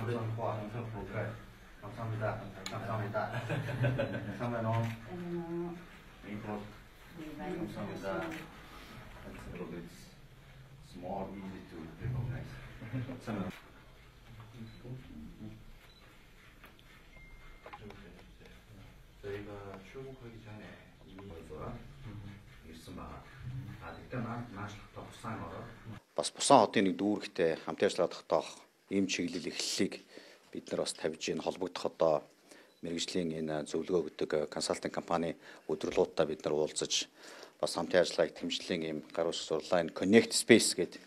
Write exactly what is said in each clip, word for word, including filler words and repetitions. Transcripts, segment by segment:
감사합니다. 감사합니다. 감사합니다. 감사합니다. It's a little bit small, easy to recognize. 감사합니다. 저희가 출국하기 전에 이미 벌써 ирсэн байна. А тэгтээ наашлахтаа бусан ороо. Бас бусан хотын нэг дүүрэгтэй хамт ажиллаад тогтоох ийм чиглэл эхлэлийг бид нар бас тавьж ийн холбогдох одоо мэргэжлийн энэ зөвлөгөө өгдөг консалтинг компани өдрөлтөд бид нар уулзаж бас хамтын ажиллагааг хэмжлэлийн ийм гар ус сурлаа энэ Connect Space гэдэг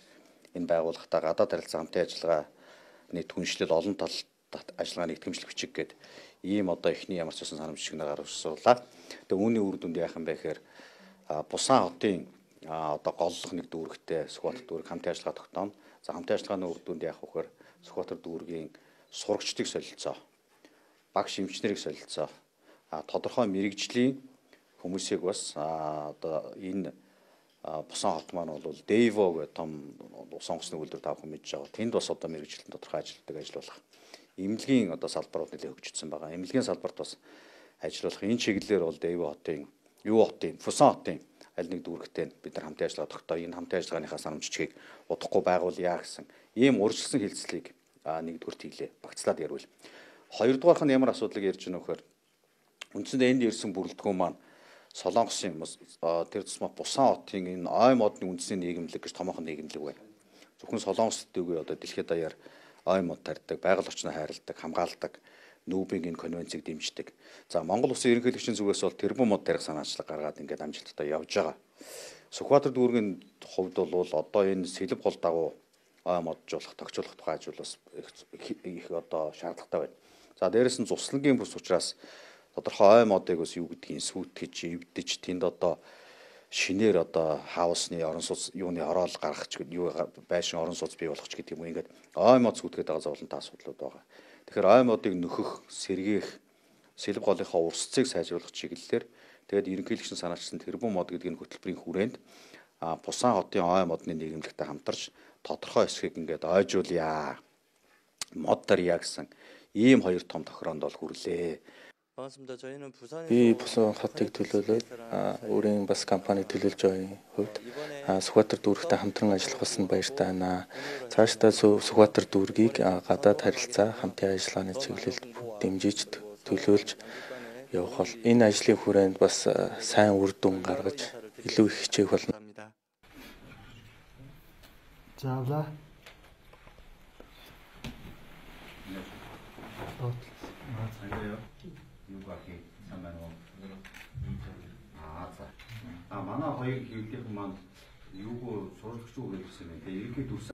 энэ байгууллагатай гадаад харилцаа хамтын ажиллагааны түншлэл олон талт ажиллагааны итгэмжлэх бичиг гэдэг ийм одоо эхний ямар ч байсан санамжчигнаар гар ус сурлаа. Тэгээ үүний үр дүнд яахан бэ гэхээр бусан хотын одоо голлох нэг дүүрэгтэй Сүхбаатар дүүрэг хамтын ажиллагаа тогтооно. За хамтын ажиллагааны үр дүнд яах вэ гэхээр Сүхбаатар дүүргийн сурагчдыг солилцоо, багш эмчнэрийг солилцоо, тодорхой мэрэгжлийн хүмүүсийг бас одоо энэ бусан хот маань бол Дэйво гэх том сонгоцны үйлдвэр тавхан мэдж байгаа. Тэнд бас одоо мэрэгжлийн тодорхой ажилтдаг ажиллуулах. Эмнэлгийн одоо салбарууд нэлээд хөгжсөн байгаа. Эмнэлгийн салбарт бас ажиллуулах энэ чиглэлээр бол Дэйво хотын, юу хотын, Бусан хотын аль нэг дүүрэгтэй бид нар хамтын ажиллагаа тогтоо энэ хамтын ажиллагааныхаа санамжчгийг удахгүй байгуулъя гэсэн ийм урьдчилсан хэлцлийг нэгдүгürt хийлээ. Багцлаад ярил. Хоёрдугаарх нь ямар асуудлыг ярьж байна вэ гэхээр үндсэндээ энд ирсэн бүрэлдэхүүн маань Солонгосын тэр тусмаа Бусан хотын энэ ой модны үндэсний нийгэмлэг гэж томоохон нийгэмлэг байна. Зөвхөн Солонгост үгүй одоо дэлхийд даяар ой мод тарьдаг, байгаль орчноо хайрладаг, хамгаалдаг, нүүбийн энэ конвенцийг дэмждэг. За Монгол Улсын ерөнхийлөгчийн зүгээс бол тэрбум мод тарих санаачлаг гаргаад ингээд амжилттай явж байгаа. Сүхбаатар дүүргийн хувьд бол одоо энэ сэлб гол дагуу ой моджуулах, тогтжуулах тухай ажил бас их одоо шаардлагатай байна. За дээрэс нь цуслагийн бүс учраас тодорхой ой модыг бас юу гэдгийг сүйтгэж, эвдэж тэнд одоо шинээр одоо хаусны орон сууц юуны ороод гаргах ч гэдэг юу байшин орон сууц бий болгох ч гэдэг юм ингээд ой мод сүйтгэхэд байгаа зовлонтой асуудлууд байгаа. Тэгэхээр ой модыг нөхөх, сэргээх, сэлб голынхаа урсцыг сайжруулах чиглэлээр тэгээд ерөнхийлөгчийн санаачилсан тэрбум мод гэдэг нь хөтөлбөрийн хүрээнд Бусан хотын ой модны нийгэмлэгтэй хамтарч тодорхой хэсгийг ингээд ойжуулъя, мод тарья гэсэн ийм хоёр том тохироонд бол хүрлээ. Би Бусан хотыг төлөөлөөд өөрийн бас компаниг төлөөлж байгаа хувьд Сүхбаатар дүүрэгтэй хамтран ажиллах болсон баяртай байна. Цаашдаа Сүхбаатар дүүргийг гадаад харилцаа хамтын ажиллагааны чиглэлд дэмжиж төлөөлж явах бол энэ ажлын хүрээнд бас сайн үр дүн гаргаж илүү их хичээх болно. Заавла. 맞아요. 유곽이 삼만 원. 아, 자. 아, 만화 거의 이렇게 보면 유고 소득 쪽으로 있으면 이렇게 둘